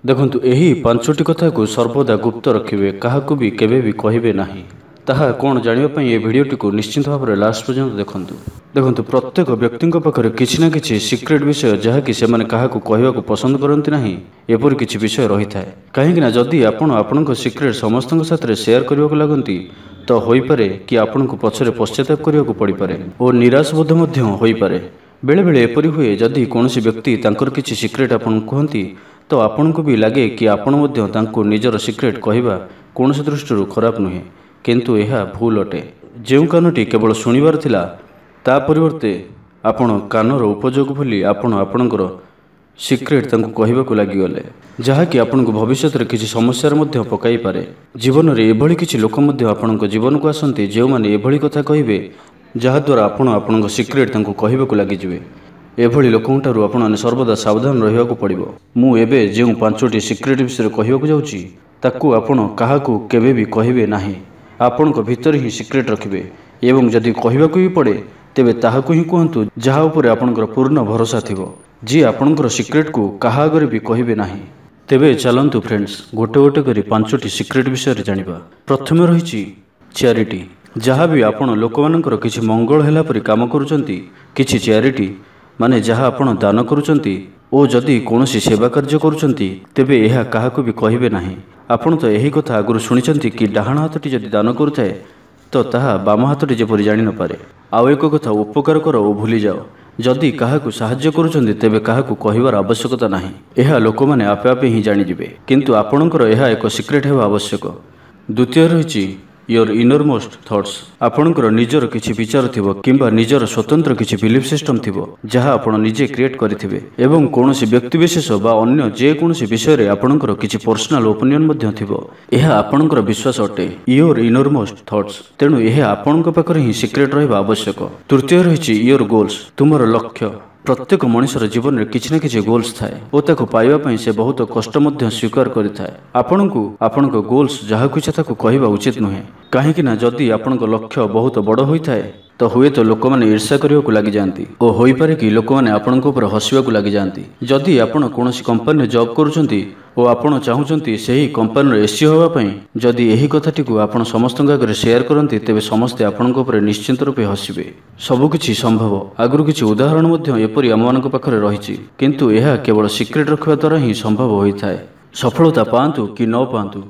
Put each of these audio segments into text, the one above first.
ଦେଖନ୍ତୁ, ଏହି ପାଞ୍ଚଟି କଥାକୁ ସର୍ବଦା ଗୁପ୍ତ ରଖିବେ, କାହାକୁ ବି କେବେ ବି କହିବେ ନାହିଁ। ତାହା କ'ଣ ଜାଣିବା ପାଇଁ ଏ ଭିଡ଼ିଓଟିକୁ ନିଶ୍ଚିତ ଭାବରେ ଲାଷ୍ଟ ପର୍ଯ୍ୟନ୍ତ ଦେଖନ୍ତୁ। ଦେଖନ୍ତୁ, ପ୍ରତ୍ୟେକ ବ୍ୟକ୍ତିଙ୍କ ପାଖରେ କିଛି ନା କିଛି ସିକ୍ରେଟ୍ ବିଷୟ, ଯାହାକି ସେମାନେ କାହାକୁ କହିବାକୁ ପସନ୍ଦ କରନ୍ତି ନାହିଁ, ଏପରି କିଛି ବିଷୟ ରହିଥାଏ। କାହିଁକିନା ଯଦି ଆପଣ ଆପଣଙ୍କ ସିକ୍ରେଟ୍ ସମସ୍ତଙ୍କ ସାଥିରେ ସେୟାର କରିବାକୁ ଲାଗନ୍ତି, ତ ହୋଇପାରେ କି ଆପଣଙ୍କୁ ପଛରେ ପଶ୍ଚାତାପ କରିବାକୁ ପଡ଼ିପାରେ ଓ ନିରାଶ ବୋଧ ମଧ୍ୟ ହୋଇପାରେ। ବେଳେବେଳେ ଏପରି ହୁଏ, ଯଦି କୌଣସି ବ୍ୟକ୍ତି ତାଙ୍କର କିଛି ସିକ୍ରେଟ୍ ଆପଣଙ୍କୁ କୁହନ୍ତି, ତ ଆପଣଙ୍କୁ ବି ଲାଗେ କି ଆପଣ ମଧ୍ୟ ତାଙ୍କୁ ନିଜର ସିକ୍ରେଟ୍ କହିବା କୌଣସି ଦୃଷ୍ଟିରୁ ଖରାପ ନୁହେଁ, କିନ୍ତୁ ଏହା ଭୁଲ ଅଟେ। ଯେଉଁ କାନଟି କେବଳ ଶୁଣିବାର ଥିଲା, ତା ପରିବର୍ତ୍ତେ ଆପଣ କାନର ଉପଯୋଗ ଭୁଲି ଆପଣ ଆପଣଙ୍କର ସିକ୍ରେଟ୍ ତାଙ୍କୁ କହିବାକୁ ଲାଗିଗଲେ, ଯାହାକି ଆପଣଙ୍କୁ ଭବିଷ୍ୟତରେ କିଛି ସମସ୍ୟାରେ ମଧ୍ୟ ପକାଇପାରେ। ଜୀବନରେ ଏଭଳି କିଛି ଲୋକ ମଧ୍ୟ ଆପଣଙ୍କ ଜୀବନକୁ ଆସନ୍ତି, ଯେଉଁମାନେ ଏଭଳି କଥା କହିବେ ଯାହାଦ୍ୱାରା ଆପଣ ଆପଣଙ୍କ ସିକ୍ରେଟ୍ ତାଙ୍କୁ କହିବାକୁ ଲାଗିଯିବେ। ଏଭଳି ଲୋକଙ୍କଠାରୁ ଆପଣମାନେ ସର୍ବଦା ସାବଧାନ ରହିବାକୁ ପଡ଼ିବ। ମୁଁ ଏବେ ଯେଉଁ ପାଞ୍ଚଟି ସିକ୍ରେଟ୍ ବିଷୟରେ କହିବାକୁ ଯାଉଛି, ତାକୁ ଆପଣ କାହାକୁ କେବେ ବି କହିବେ ନାହିଁ। ଆପଣଙ୍କ ଭିତରେ ହିଁ ସିକ୍ରେଟ୍ ରଖିବେ ଏବଂ ଯଦି କହିବାକୁ ବି ପଡ଼େ, ତେବେ ତାହାକୁ ହିଁ କୁହନ୍ତୁ ଯାହା ଉପରେ ଆପଣଙ୍କର ପୂର୍ଣ୍ଣ ଭରସା ଥିବ, ଯିଏ ଆପଣଙ୍କର ସିକ୍ରେଟ୍କୁ କାହା ଆଗରେ ବି କହିବେ ନାହିଁ। ତେବେ ଚାଲନ୍ତୁ ଫ୍ରେଣ୍ଡସ୍, ଗୋଟେ ଗୋଟେ କରି ପାଞ୍ଚଟି ସିକ୍ରେଟ୍ ବିଷୟରେ ଜାଣିବା। ପ୍ରଥମେ ରହିଛି ଚ୍ୟାରିଟି। ଯାହା ବି ଆପଣ ଲୋକମାନଙ୍କର କିଛି ମଙ୍ଗଳ ହେଲା ପରି କାମ କରୁଛନ୍ତି, କିଛି ଚ୍ୟାରିଟି ମାନେ ଯାହା ଆପଣ ଦାନ କରୁଛନ୍ତି ଓ ଯଦି କୌଣସି ସେବା କାର୍ଯ୍ୟ କରୁଛନ୍ତି, ତେବେ ଏହା କାହାକୁ ବି କହିବେ ନାହିଁ। ଆପଣ ତ ଏହି କଥା ଆଗରୁ ଶୁଣିଛନ୍ତି କି ଡାହାଣ ହାତଟି ଯଦି ଦାନ କରୁଥାଏ, ତ ତାହା ବାମ ହାତଟି ଯେପରି ଜାଣିନପାରେ। ଆଉ ଏକ କଥା, ଉପକାର କର ଓ ଭୁଲିଯାଅ। ଯଦି କାହାକୁ ସାହାଯ୍ୟ କରୁଛନ୍ତି, ତେବେ କାହାକୁ କହିବାର ଆବଶ୍ୟକତା ନାହିଁ। ଏହା ଲୋକମାନେ ଆପେ ଆପେ ହିଁ ଜାଣିଯିବେ, କିନ୍ତୁ ଆପଣଙ୍କର ଏହା ଏକ ସିକ୍ରେଟ୍ ହେବା ଆବଶ୍ୟକ। ଦ୍ୱିତୀୟ ରହିଛି your inner most thoughts. ଆପଣଙ୍କର ନିଜର କିଛି ବିଚାର ଥିବ କିମ୍ବା ନିଜର ସ୍ୱତନ୍ତ୍ର କିଛି ବିଲିଫ୍ ସିଷ୍ଟମ୍ ଥିବ, ଯାହା ଆପଣ ନିଜେ କ୍ରିଏଟ୍ କରିଥିବେ, ଏବଂ କୌଣସି ବ୍ୟକ୍ତିବିଶେଷ ବା ଅନ୍ୟ ଯେକୌଣସି ବିଷୟରେ ଆପଣଙ୍କର କିଛି ପର୍ସନାଲ ଓପିନିଅନ୍ ମଧ୍ୟ ଥିବ। ଏହା ଆପଣଙ୍କର ବିଶ୍ୱାସ ଅଟେ, your inner most thoughts. ତେଣୁ ଏହା ଆପଣଙ୍କ ପାଖରେ ହିଁ ସିକ୍ରେଟ୍ ରହିବା ଆବଶ୍ୟକ। ତୃତୀୟ ରହିଛି your goals, ତୁମର ଲକ୍ଷ୍ୟ। ପ୍ରତ୍ୟେକ ମଣିଷର ଜୀବନରେ କିଛି ନା କିଛି ଗୋଲ୍ସ ଥାଏ ଓ ତାକୁ ପାଇବା ପାଇଁ ସେ ବହୁତ କଷ୍ଟ ମଧ୍ୟ ସ୍ୱୀକାର କରିଥାଏ। ଆପଣଙ୍କୁ ଆପଣଙ୍କ ଗୋଲ୍ସ ଯାହାକୁ ଇଚ୍ଛା ତାକୁ କହିବା ଉଚିତ ନୁହେଁ, କାହିଁକି ନା ଯଦି ଆପଣଙ୍କ ଲକ୍ଷ୍ୟ ବହୁତ ବଡ଼ ହୋଇଥାଏ, ତ ହୁଏତ ଲୋକମାନେ ଈର୍ଷା କରିବାକୁ ଲାଗିଯାଆନ୍ତି ଓ ହୋଇପାରେ କି ଲୋକମାନେ ଆପଣଙ୍କ ଉପରେ ହସିବାକୁ ଲାଗିଯାଆନ୍ତି। ଯଦି ଆପଣ କୌଣସି କମ୍ପାନୀରେ ଜବ୍ କରୁଛନ୍ତି ଓ ଆପଣ ଚାହୁଁଛନ୍ତି ସେହି କମ୍ପାନୀର ଏସିଓ ହେବା ପାଇଁ, ଯଦି ଏହି କଥାଟିକୁ ଆପଣ ସମସ୍ତଙ୍କ ଆଗରେ ସେୟାର କରନ୍ତି, ତେବେ ସମସ୍ତେ ଆପଣଙ୍କ ଉପରେ ନିଶ୍ଚିନ୍ତ ରୂପେ ହସିବେ। ସବୁକିଛି ସମ୍ଭବ। ଆଗରୁ କିଛି ଉଦାହରଣ ମଧ୍ୟ ଏପରି ଆମମାନଙ୍କ ପାଖରେ ରହିଛି, କିନ୍ତୁ ଏହା କେବଳ ସିକ୍ରେଟ୍ ରଖିବା ଦ୍ୱାରା ହିଁ ସମ୍ଭବ ହୋଇଥାଏ। ସଫଳତା ପାଆନ୍ତୁ କି ନ ପାଆନ୍ତୁ,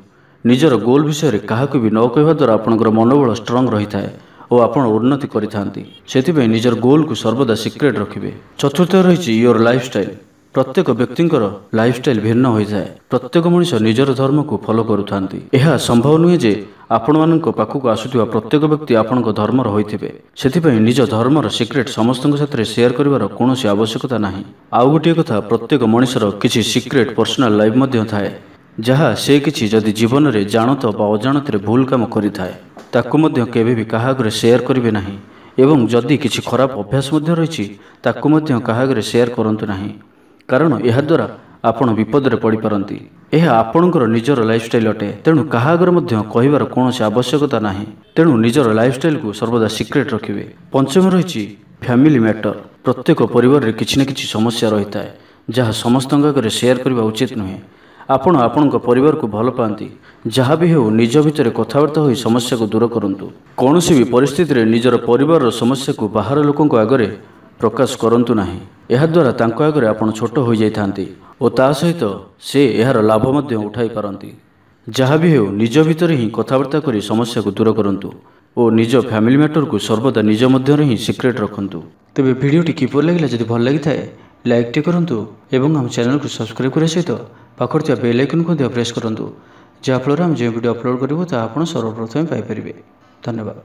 ନିଜର ଗୋଲ୍ ବିଷୟରେ କାହାକୁ ବି ନ କହିବା ଦ୍ୱାରା ଆପଣଙ୍କର ମନୋବଳ ଷ୍ଟ୍ରଙ୍ଗ ରହିଥାଏ ଓ ଆପଣ ଉନ୍ନତି କରିଥାନ୍ତି। ସେଥିପାଇଁ ନିଜର ଗୋଲ୍କୁ ସର୍ବଦା ସିକ୍ରେଟ୍ ରଖିବେ। ଚତୁର୍ଥ ରହିଛି your lifestyle. ପ୍ରତ୍ୟେକ ବ୍ୟକ୍ତିଙ୍କର ଲାଇଫଷ୍ଟାଇଲ୍ ଭିନ୍ନ ହୋଇଥାଏ। ପ୍ରତ୍ୟେକ ମଣିଷ ନିଜର ଧର୍ମକୁ ଫଲୋ କରୁଥାନ୍ତି। ଏହା ସମ୍ଭବ ନୁହେଁ ଯେ ଆପଣମାନଙ୍କ ପାଖକୁ ଆସୁଥିବା ପ୍ରତ୍ୟେକ ବ୍ୟକ୍ତି ଆପଣଙ୍କ ଧର୍ମର ହୋଇଥିବେ। ସେଥିପାଇଁ ନିଜ ଧର୍ମର ସିକ୍ରେଟ୍ ସମସ୍ତଙ୍କ ସାଥିରେ ସେୟାର କରିବାର କୌଣସି ଆବଶ୍ୟକତା ନାହିଁ। ଆଉ ଗୋଟିଏ କଥା, ପ୍ରତ୍ୟେକ ମଣିଷର କିଛି ସିକ୍ରେଟ୍ ପର୍ସନାଲ ଲାଇଫ୍ ମଧ୍ୟ ଥାଏ, ଯାହା ସେ କିଛି ଯଦି ଜୀବନରେ ଜାଣତ ବା ଅଜାଣତରେ ଭୁଲ କାମ କରିଥାଏ, ତାକୁ ମଧ୍ୟ କେବେ ବି କାହା ଆଗରେ ସେୟାର କରିବେ ନାହିଁ। ଏବଂ ଯଦି କିଛି ଖରାପ ଅଭ୍ୟାସ ମଧ୍ୟ ରହିଛି, ତାକୁ ମଧ୍ୟ କାହା ଆଗରେ ସେୟାର କରନ୍ତୁ ନାହିଁ, କାରଣ ଏହାଦ୍ୱାରା ଆପଣ ବିପଦରେ ପଡ଼ିପାରନ୍ତି। ଏହା ଆପଣଙ୍କର ନିଜର ଲାଇଫଷ୍ଟାଇଲ୍ ଅଟେ, ତେଣୁ କାହା ଆଗରେ ମଧ୍ୟ କହିବାର କୌଣସି ଆବଶ୍ୟକତା ନାହିଁ। ତେଣୁ ନିଜର ଲାଇଫଷ୍ଟାଇଲ୍କୁ ସର୍ବଦା ସିକ୍ରେଟ୍ ରଖିବେ। ପଞ୍ଚମ ରହିଛି ଫ୍ୟାମିଲି ମ୍ୟାଟର। ପ୍ରତ୍ୟେକ ପରିବାରରେ କିଛି ନା କିଛି ସମସ୍ୟା ରହିଥାଏ, ଯାହା ସମସ୍ତଙ୍କ ଆଗରେ ସେୟାର କରିବା ଉଚିତ ନୁହେଁ। ଆପଣ ଆପଣଙ୍କ ପରିବାରକୁ ଭଲ ପାଆନ୍ତି, ଯାହା ବି ହେଉ ନିଜ ଭିତରେ କଥାବାର୍ତ୍ତା ହୋଇ ସମସ୍ୟାକୁ ଦୂର କରନ୍ତୁ। କୌଣସି ବି ପରିସ୍ଥିତିରେ ନିଜର ପରିବାରର ସମସ୍ୟାକୁ ବାହାର ଲୋକଙ୍କ ଆଗରେ ପ୍ରକାଶ କରନ୍ତୁ ନାହିଁ। ଏହାଦ୍ୱାରା ତାଙ୍କ ଆଗରେ ଆପଣ ଛୋଟ ହୋଇଯାଇଥାନ୍ତି ଓ ତା ସହିତ ସେ ଏହାର ଲାଭ ମଧ୍ୟ ଉଠାଇ ପାରନ୍ତି। ଯାହା ବି ହେଉ ନିଜ ଭିତରେ ହିଁ କଥାବାର୍ତ୍ତା କରି ସମସ୍ୟାକୁ ଦୂର କରନ୍ତୁ ଓ ନିଜ ଫ୍ୟାମିଲି ମ୍ୟାଟରକୁ ସର୍ବଦା ନିଜ ମଧ୍ୟରେ ହିଁ ସିକ୍ରେଟ୍ ରଖନ୍ତୁ। ତେବେ ଭିଡ଼ିଓଟି କିପରି ଲାଗିଲା? ଯଦି ଭଲ ଲାଗିଥାଏ, ଲାଇକ୍ଟି କରନ୍ତୁ ଏବଂ ଆମ ଚ୍ୟାନେଲକୁ ସବସ୍କ୍ରାଇବ୍ କରିବା ସହିତ ପାଖରେ ଥିବା ବେଲ୍ ଆଇକନ୍କୁ ମଧ୍ୟ ପ୍ରେସ୍ କରନ୍ତୁ, ଯାହାଫଳରେ ଆମେ ଯେଉଁ ଭିଡ଼ିଓ ଅପଲୋଡ଼ କରିବୁ ତାହା ଆପଣ ସର୍ବପ୍ରଥମେ ପାଇପାରିବେ। ଧନ୍ୟବାଦ।